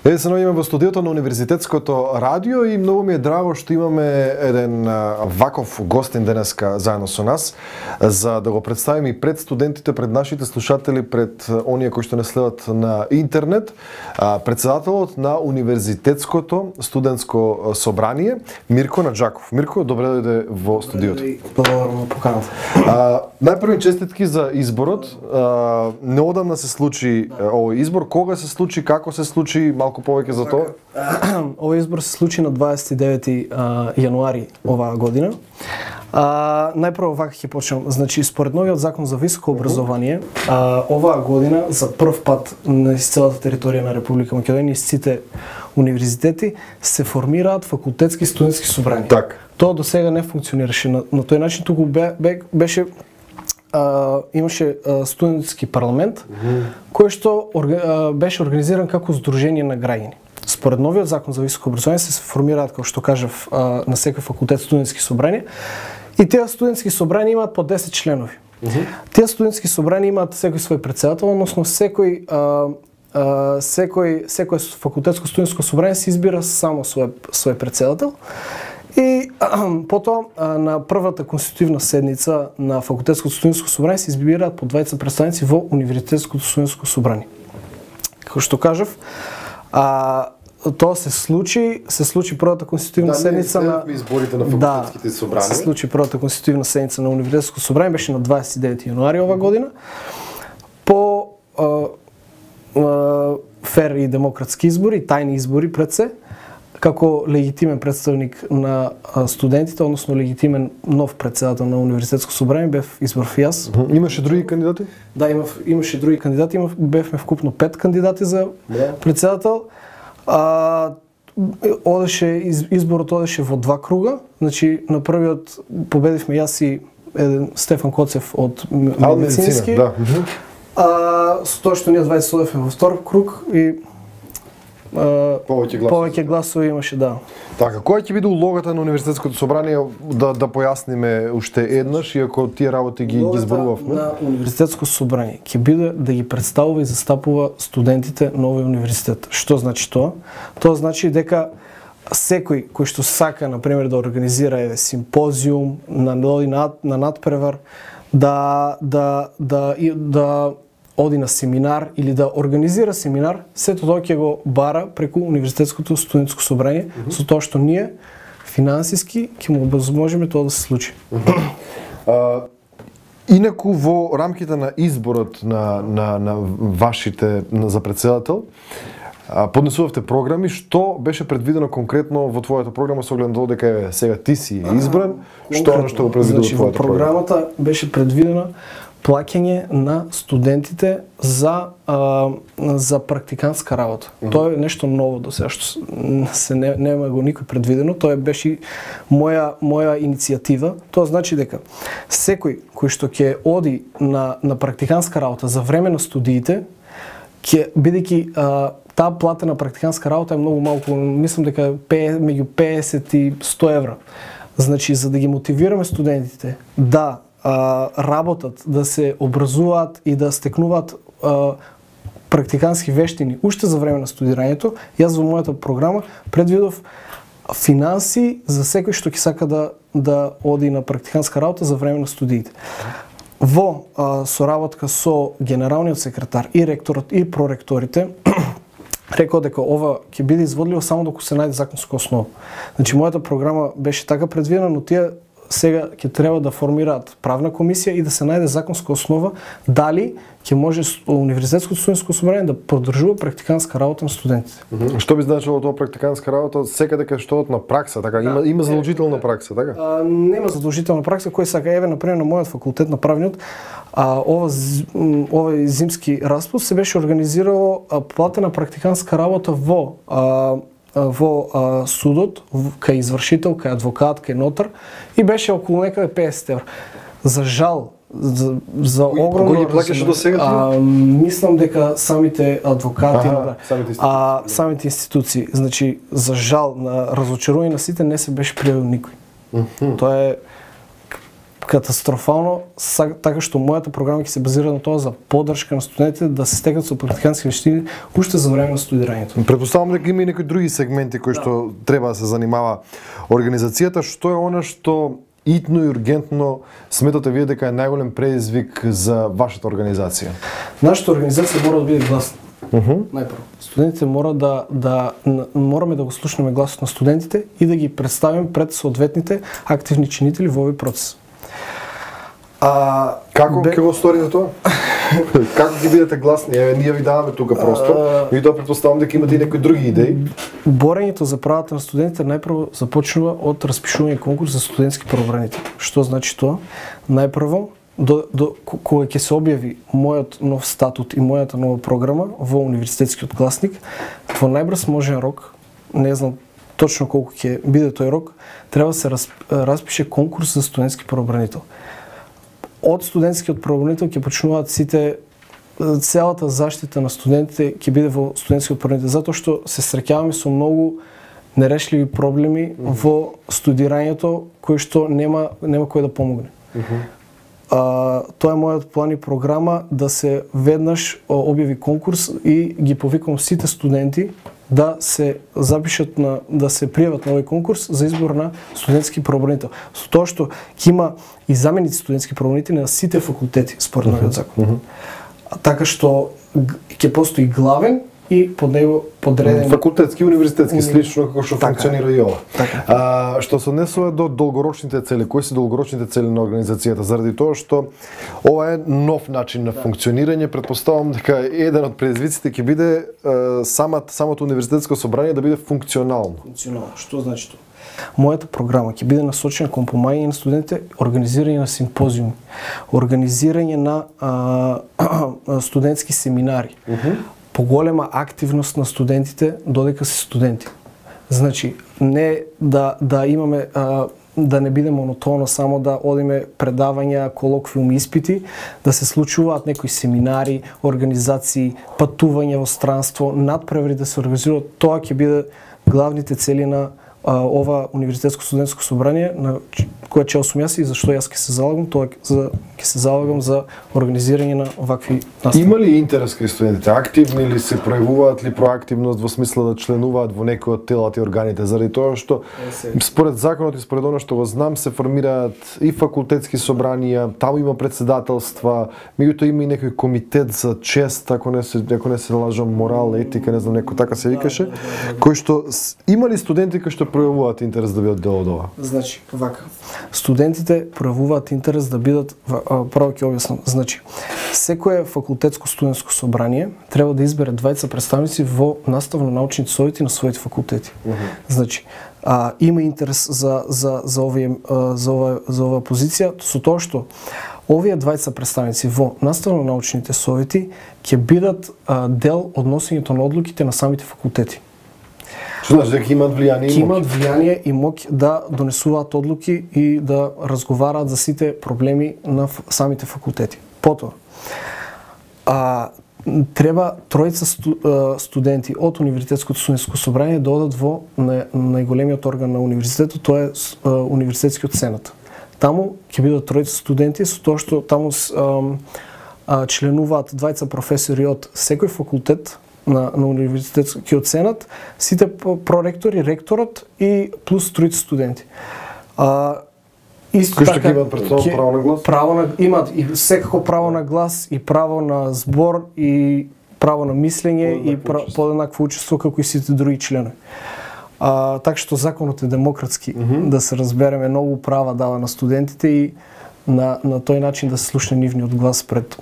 Се наоѓаме во студиото на Универзитетското радио и многу ми е драго што имаме еден ваков гостин денеска заедно со нас за да го представиме и пред студентите, пред нашите слушатели, пред оние кои што не следат на интернет, председателот на Универзитетското студентско собрание Мирко Наџаков. Мирко, добре дојде во студиото. Благодарам на поканата. Најпрви честитки за изборот. Неодамна се случи овој избор. Кога се случи, како се случи, малку повеќе за тоа? Овој избор се случи на 29 јануари оваа година. Најпрво вака ќе почнем. Значи, според новиот закон за високо образование, оваа година за прв пат на целата територија на Република Македонија сите универзитети се формираат факултетски студентски собрања. Так. Тоа до сега не функционираше на тој начин, туку беше имаше студентски парламент кој што беше организиран како здружение на граѓани. Според новиот закон за високо образование се формираат, како што кажав, на секој факултет студентски собрања и тие студентски собрања имаат по 10 членови. Тие студентски собрања имаат секој свој председател, односно секој факултетско студентско собрање се избира само свој председател. И потоа на првата конститутивна седница на факултетското студентско собрање се избираат по 20 представници во Универзитетското студентско собрање. Како што кажав, тоа се случи првата конститутивна седница на изборите на факултетските собрања. Се случи првата конститутивна седница на Универзитетското собрање, беше на 29 јануари оваа година. По фер и демократски избори, тајни избори пред се, како легитимен представник на студентите, односно легитимен нов председател на Универзитетско собрање, бев избрав и јас. Имаше други кандидати? Да, имаше други кандидати, бевме вкупно 5 кандидати за председател. Изборот одеше во 2 круга, значи на првиот победивме јас и Стефан Коцев од медицински. Да. Со тоа што ние 20 одевме во втор круг и повеќе гласови имаше, да. Така, која ќе биде улогата на Универзитетското собрание, да појасниме уште еднаш, иако тие работи ги зборувавме? Улогата на Универзитетско собрание ќе биде да ги представува и застапува студентите на овој универзитет. Што значи тоа? Тоа значи дека секој кој што сака, например, да организира симпозиум, на надпревар, да оди на семинар или да организира семинар, сето тоа ќе го бара преку Универзитетското студентско собрање, со тоа што ние финансиски ќе му овозможиме тоа да се случи. Инаку во рамките на изборот на вашите за председател, поднесувавте програми, што беше предвидено конкретно во твојата програма со оглед на тоа дека сега ти си избран, што го предвидува твојата програма? Во програмата беше предвидено плаќање на студентите за практикантска работа. Тоа е нешто ново до сега, што нема го никој предвидено. Тоа беше моја иницијатива. Тоа значи дека секој кој што ќе оди на практикантска работа за време на студиите, бидејќи таа платена практикантска работа е многу малку, мислам дека меѓу 50 и 100 евра. Значи, за да ги мотивираме студентите да работат, да се образуваат и да стекнуваат практикански вештини уште за време на студирањето, јас во мојата програма предвидов финанси за секој што ќе сака да оди на практиканска работа за време на студиите. Во соработка со генералниот секретар и ректорот и проректорите рекол дека ова ќе биде изводливо само доколку се најде законска основа. Значи, мојата програма беше така предвидена, но тие сега ќе треба да формираат правна комисија и да се најде законска основа дали ќе може Универзитетското студентско собрание да поддржува практикантска работа на студентите. Што би значило тоа практикантска работа? Секаде кај што на пракса, така? Има задолжителна пракса, така? Нема задолжителна пракса, кој сака, например, на мојот факултет на правниот, овој зимски распуст се беше организирало платена практикантска работа во судот, кај извршител, кај адвокат, кај нотар и беше околу некаде 50 евра. За жал, за огромно... Кој ги плаќаше до сега? Мислам дека самите адвокати, самите институции. Значи, за жал, на разочарување на сите не се беше пријавил никој. Тоа е катастрофално, така што мојата програма ќе се базира на тоа за поддршка на студентите да се стекнат со практикантски вештини уште за време на студирањето. Претпоставам дека има и некои други сегменти кои што треба да се занимава организацијата. Што е она што итно и ургентно сметате вие дека е најголем предизвик за вашата организација? Нашата организација мора да биде гласна. Најпрво, студентите мораме да го слушнеме гласот на студентите и да ги представиме пред соодветните активни чинители во овој процес. Како ќе го сторите тоа? Како ќе бидете гласни? Ние ви даваме тука простор и тоа претпоставам дека имате и некои други идеи. Борењето за правата на студентите најпрво започнува од распишување конкурс за студентски правобранители. Што значи тоа? Најпрво кога ќе се објави мојот нов статут и мојата нова програма во универзитетскиот гласник, во најбрз можен рок, не знам точно колку ќе биде тој рок, треба да се распише конкурс за студентски правобранител. Од студентскиот правобранител ќе почнуваат целата заштита на студентите ќе биде во студентскиот правобранител, затоа што се среќаваме со многу нерешливи проблеми во студирањето кои што нема кој да помогне. Тоа е мојот план и програма да се веднаш објави конкурс и ги повикам сите студенти да се запишат да се пријават на овој конкурс за избор на студентски правобранител. Со тоа што ќе има и заменици студентски правобранители на сите факултети според новиот закон. Така што ќе постои главен и под него подредени факултетски и универзитетски, слично како што функционира и ова. Така. Што се однесува до долгорочните цели, кои се долгорочните цели на организацијата, заради тоа што ова е нов начин на функционирање, претпоставам дека еден од предизвиците ќе биде самото универзитетско собрание да биде функционално. Функционално. Што значи тоа? Мојата програма ќе биде насочена кон помагање на студентите, организирање на симпозиуми, организирање на студентски семинари. Поголема активност на студентите додека се студенти. Значи, не да имаме да не биде монотонно само да одиме предавања, колоквиуми, испити, да се случуваат некои семинари, организации, патувања во странство, надпревари да се организираат. Тоа ќе биде главните цели на ова универзитетско студентско собрание на кое ќе сум јас и зашто јас ќе се залагам, ќе се залагам за организирање на вакви настави. Има ли интерес кај студентите? Активни ли се, пројавуваат ли проактивност во смисла да членуваат во некои од телата и органите, заради тоа што според законот и според она што го знам се формираат и факултетски собранија, таму има председателства, меѓутоа има и некој комитет за чест, ако не се лажам, морал, етика, не знам, некој така се викаше, кој што има ли студенти кои што пројавуваат интерес да бидат дел од ова? Значи, вака. Студентите пројавуваат интерес да бидат, право ќе објаснам. Значи, секое факултетско студентско собрание треба да избере двајца представници во наставно-научните совети на своите факултети. Значи, има интерес за оваа позиција со тоа што овие двајца представници во наставно-научните совети ќе бидат дел од носењето на одлуките на самите факултети. Што значи дека имаат влијание и моќ? Имаат влијание и моќ да донесуваат одлуки и да разговараат за сите проблеми на самите факултети. Потоа, треба тројца студенти од универзитетското студентско собрание да одат во најголемиот орган на универзитетот, тоа е универзитетскиот сенат. Таму ќе бидат тројца студенти, со тоа што таму членуваат двајца професори од секој факултет на универзитетскиот сенат, сите проректори, ректорот и плюс тројца студенти. Исто така имаат пред тоа право на глас? Имаат и секако право на глас, и право на збор, и право на мислење, и подеднакво учество како и сите други членови. Така што законот е демократски, да се разбереме, многу права дава на студентите и на тој начин да се слушне нивниот глас пред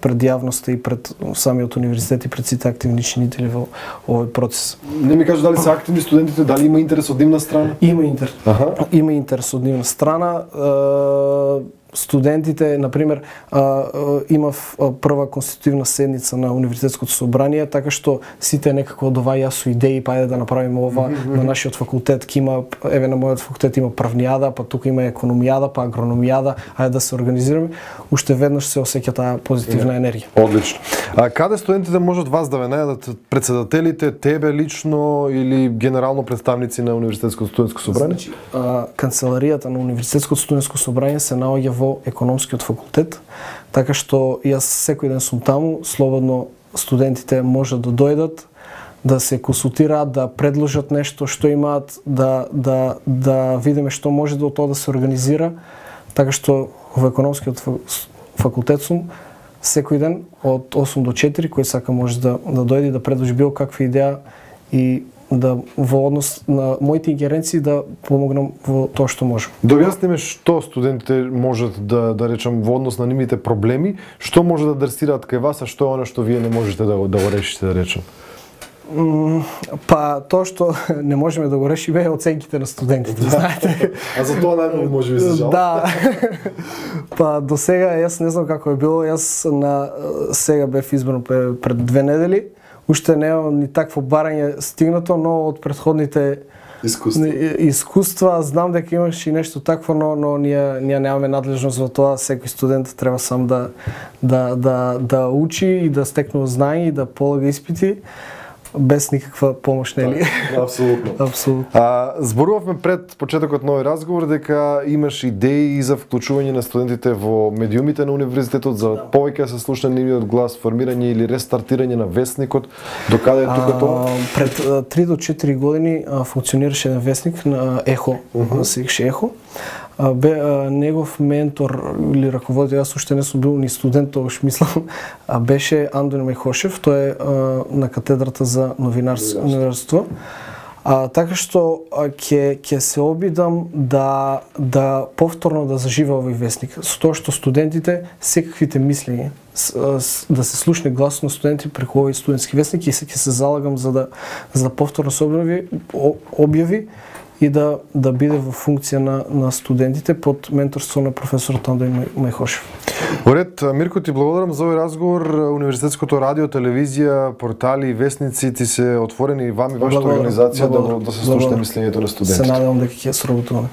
јавноста и пред самиот универзитет и пред сите активни чинители во овој процес. Не ми кажа дали се активни студентите, дали има интерес од нивна страна? Има интерес. Има интерес од нивна страна. студентите, например, имав прва конститутивна седница на универзитетското собрание, така што сите некако доваѓаа со идеи, па ајде да направиме ова на нашиот факултет, ки има, еве на мојот факултет има правнијада, па тука има економијада, па агрономијада, ајде да се организираме. Уште веднаш се осеќа таа позитивна енергија. Одлично. А каде студентите можат вас да ве најдат? Председателите, тебе лично или генерално представници на универзитетското студентско собрание? Значи, канцеларијата на универзитетското студентско собрание се наоѓа во економскиот факултет, така што јас секој ден сум таму, слободно студентите можат да дојдат, да се консултираат, да предложат нешто што имаат, да видиме што може да тоа да се организира, така што во економскиот факултет сум секој ден од 8 до 4, кој сака може да дојде да предложи било каква идеја и да во однос на моите ингеренции да помогнам во тоа што можам. Да објасниме што студентите можат да речам во однос на нивните проблеми, што може да адресираат кај вас, а што е она што вие не можете да го решите, да речем? Па тоа што не можеме да го решиме е оценките на студентите, знаете. А за тоа најмногу може би се жал. Да. Па до сега јас не знам како е било, јас сега бев избран пред 2 недели. Уште немам ни такво барање стигнато, но од претходните искуства знам дека имаш и нешто такво, но ние немаме надлежност во тоа. Секој студент треба сам да учи и да стекнува знаење и да полага испити без никаква помош, нели? Апсолутно. Апсолутно. Зборувавме пред почетокот на овој разговор дека имаш идеи за вклучување на студентите во медиумите на универзитетот, за повеќе да се слуша нивниот глас, формирање или рестартирање на весникот. Докаде е тука тоа? Пред 3 до 4 години функционираше еден весник на Ехо, се викаше Ехо. Негов ментор или раководител, јас уште не сум бил ни студент, тогаш мислам, беше Андон Мехошев, тој е на катедрата за новинарство. Така што ќе се обидам да повторно да зажива овој весник, со тоа што студентите секаквите мислења да се слушне гласот на студенти преку овој студентски весник и ќе се залагам за да повторно се објави и да биде во функција на студентите под менторство на професорот Андон Мехошев. Оред, Мирко, ти благодарам за овој разговор. Универзитетското радио, телевизија, портали и весници ти се отворени и вам и вашата организација да се слушне мислењето на студентите. Се надевам дека ќе сработуваме.